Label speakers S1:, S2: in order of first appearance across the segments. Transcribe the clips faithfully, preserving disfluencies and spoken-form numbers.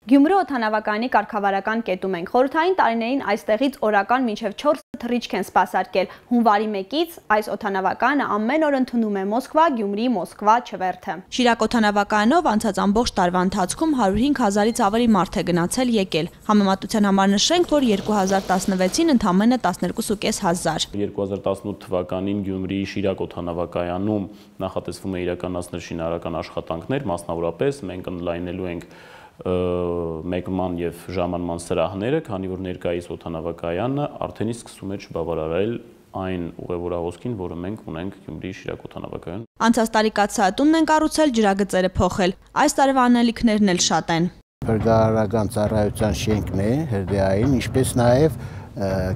S1: Գյումրի օդանավակայանի կարգավարական կետում ենք։ Խորհրդային տարիներին այստեղից օրական մինչև չորս թռիչք են սպասարկել։ Հունվարի մեկից այս օդանավակայանը ամեն օր ընդունում է Մոսկվա, Գյումրի, Մոսկվա չվերթը։ Շիրակ օդանավակայանով անցած ամբողջ տարվա ընթացքում հարյուր հինգ հազարից ավելի մարդ է գնացել եկել։ Համեմատության համար նշենք, որ երկու հազար տասնվեցին ընդամենը տասներկու հազար։
S2: երկու հազար տասնութ թվականին Գյումրիի Շիրակ օդանավակայանում նախատեսվում է իրականացնել շինարարական աշխատանքներ, մասնավորապես մենք ընդլայնելու ենք մեկման եւ ժամանման սրահները, քանի որ ներկայիս օդանավակայանը արդեն իսկ սկսում է չբավարարել այն ուղևորահոսքին, որը մենք ունենք Գյումրիի Շիրակ օդանավակայանում։
S1: Անցած տարի կաթսայատունն են կառուցել, ջրագծերը փոխել։ Այս տարվա անելիքներն էլ շատ են։
S3: Փրկարարական ծառայության շենքն է հրդեհային, ինչպես նաեւ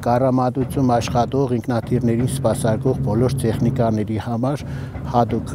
S3: կառամատություն աշխատող ինքնաթիռներին սպասարկող բոլոր տեխնիկաների համար հատուկ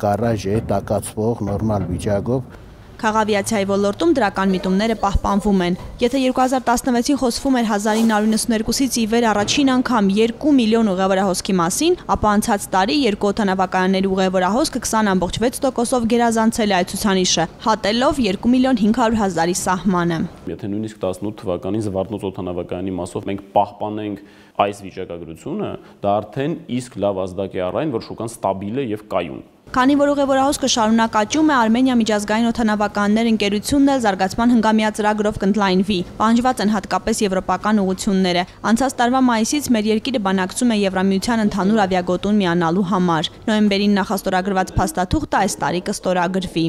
S3: գարաժ է, տակացվող, նորմալ վիճակով։
S1: Քաղավիացիայի ոլորտում դրական միտումները պահպանվում են։ Եթե երկու հազար տասնվեցին խոսվում էր հազար ինը հարյուր նվսանուերկուսից ի վեր առաջին անգամ երկու միլիոն ուղևորահոսքի մասին, ապա անցած տարի երկու օդանավակայանների ուղևորահոսքը քսան ամբողջ վեց տոկոսով գերազանցել է այդ ցուցանիշը, հատելով երկու միլիոն հինգ հարյուր հազարի սահմանը։
S2: Եթե նույնիսկ տասնութ թվականին Զվարթնոց օդանավակայանի մասով մենք պահպանենք այս վիճակագրությունը, դա արդեն իսկ լավ ազդակ է առ այն, որ շուկան ստաբիլ է եւ կայուն։
S1: Քանի որ ուղևորահոսքը շարունակ աճում է, Արմենիա միջազգային օդանավակայաններ ընկերությունն էլ զարգացման հնգամյա ծրագրով կընդլայնվի։ Պահանջված են հատկապես եվրոպական ուղղությունները։ Անցած տարվա մայիսից մեր երկիրը բանակցում է Եվրամիության ընդհանուր ավիագոտուն միանալու համար։ Նոյեմբերին նախաստորագրված փաստաթուղթը այս տարի կստորագրվի։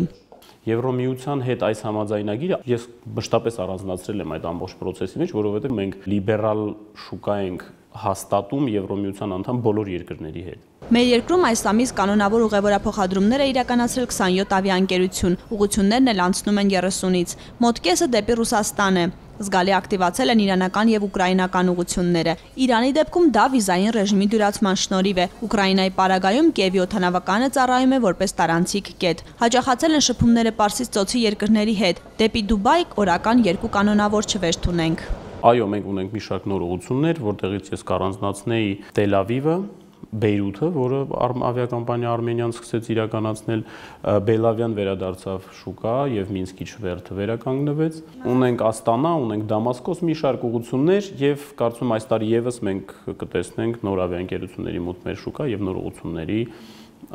S2: Եվրոմիության հետ այս համաձայնագիրը ես մշտապես առանձնացրել եմ այդ ամբողջ process-ի մեջ, որովհետև մենք լիբերալ շուկա ենք հաստատում Եվրոմիության անդամ բոլոր երկրների հետ։
S1: Մեր երկրում այս ամիս կանոնավոր ուղևորափոխադրումներ է իրականացրել քսանյոթ ավիաընկերություն, ուղղություններն էլ անցնում են երեսունից, մոտ կեսը դեպի Ռուսաստան է։ Զգալի ակտիվացել են իրանական եւ ուկրաինական ուղղությունները։ Իրանի դեպքում դա վիզային ռեժիմի դյուրացման շնորհիվ է։ Ուկրաինայի պարագայում Կիևի օդանավակայանը ծառայում է որպես տարանցիկ կետ։ Հաջողացել են շփումները Պարսից ծոցի երկրների հետ։ Դեպի Դուբայ օրական երկու կանոնավոր չվերթ ունենք։
S2: Այո, մենք ունենք մի շարք նոր ուղղություններ, որտեղից ես կառանձնացնեի Տել Ավիվը, Բեյրութը, որը ավիակոմպանիա Արմենիան սկսեց իրականացնել, Բելավյան վերադարձավ շուկա եւ Մինսկի չվերթը վերականգնվեց։ Ունենք Աստանա, ունենք Դամասկոս մի շարք ուղղություններ եւ կարծում այս տարի եւս մենք կտեսնենք նոր ավիաընկերությունների մոտ մեր շուկա եւ նոր ուղղությունների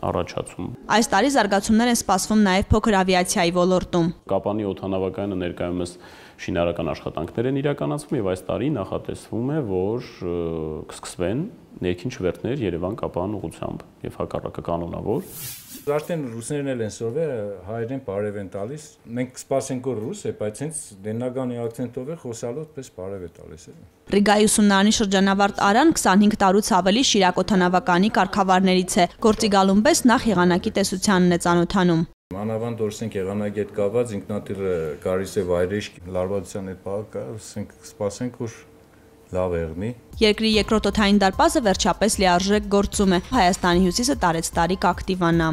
S2: առաջացում։
S1: Այս տարի զարգացումներ են սպասվում նաև փոքր ավիացիայի ոլորտում։
S2: Կապանի օդանավակայանը ներկայումս շինարարական աշխատանքներ են իրականացվում եւ այս տարի նախատեսվում է, որ կսկսվեն ներքին չվերթներ Երևան-Կապան ուղղությամբ եւ հակառակը կանոնավոր։
S4: Արդեն ռուսներն էլ են սովեր հայերեն բարև են տալիս։ Մենք սպասենք որ ռուս է, բայց հենց դենագանի ակցենտով է խոսալով պես բարև է տալիս։
S1: Ռիգայի ուսումնարանի շրջանավարտ Արան քսանհինգ տարուց ավելի Շիրակ օդանավակայանի կարգավարներից է։ Գործի գալուն պես նախ եղանակի տեսությանն է ծանոթանում։
S4: Մանավանդ որսենք եղանակի հետ կապված ինքնաթիռը գալիս է վայրեշ լարվածության հետ պահակա, սպասենք որ լավ եղնի։
S1: Երկրի երկրորդ օդային դարպասը վերջապես լիարժեք գործում է։ Հայաստանի հյուսիսը տարեց տարի կակտիվանա։